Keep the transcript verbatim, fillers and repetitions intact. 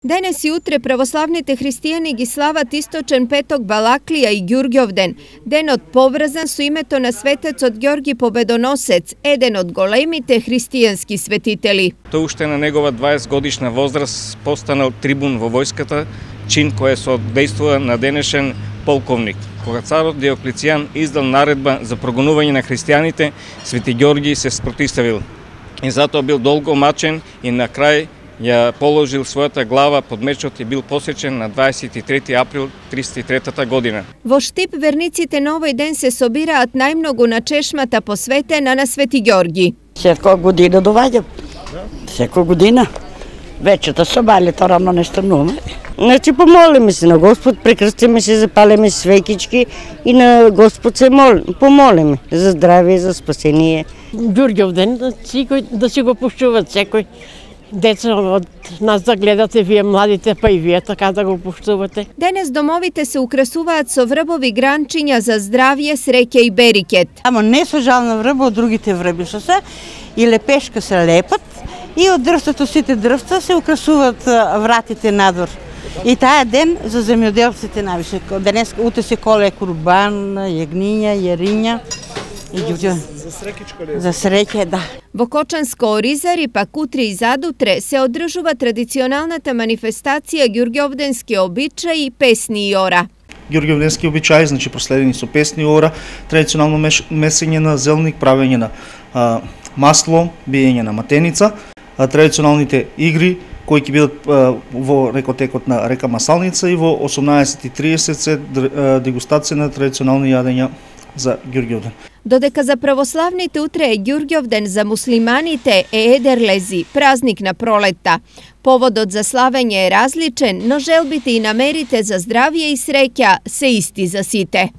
Денес и утре православните христијани ги слават источен петок Балаклија и Ѓурѓовден, денот поврзан со името на светецот Ѓорги Победоносец, еден од големите христијански светители. Тој уште на негова дваесет годишна возраст постанал трибун во војската, чин кој се оддејствува на денешен полковник. Кога царот Диоклецијан издал наредба за прогонување на христијаните, Свети Ѓорги се спротивил. И затоа бил долго мачен и на крај ја положил својата глава под мечот и бил посечен на дваесет и трети април триста и трета година. Во Штип верниците на овој ден се собираат најмногу на чешмата посветена на Свети Ѓорги. Секоја година доваѓам. Секоја година. Вечето собалите рано не стануваме. Значи помолиме се на Господ, прекрстиме се, запалиме свекички и на Господ се молим, помолиме за здравие, за спасение. Ѓурѓовден, да си го пуштуват секој. Деца од нас да гледате, вие младите, па и вие така да го пуштувате. Денес домовите се украсуваат со врбови гранчиња за здравје, среќа и берикет. Ама не со жална врба од другите врби што се, и лепешка се лепат, и од дрвството сите дрвца се украсуваат вратите надвор. И таа ден за земјоделците навише. Денес утре се коле курбан, јагниња, јариња. За среќичко ли? За среќа, да. Во Кочанско Оризари, пак утре и задутре, се одржува традиционалната манифестација ѓурѓовденски обичаи, песни и ора. Ѓурѓовденски обичаи, значи проследени со песни и ора, традиционално месење на зелник, правење на а, масло, биење на матеница, а, традиционалните игри кои ќе бидат а, во рекотекот на река Масалница и во осумнаесет и тридесет се дегустација на традиционални јадења за Ѓурѓовден. Додека за православните утре е Ѓурѓовден, за муслиманите е Едерлези, празник на пролетта. Поводот за славење е различен, но желбите и намерите за здравје и среќа се исти за сите.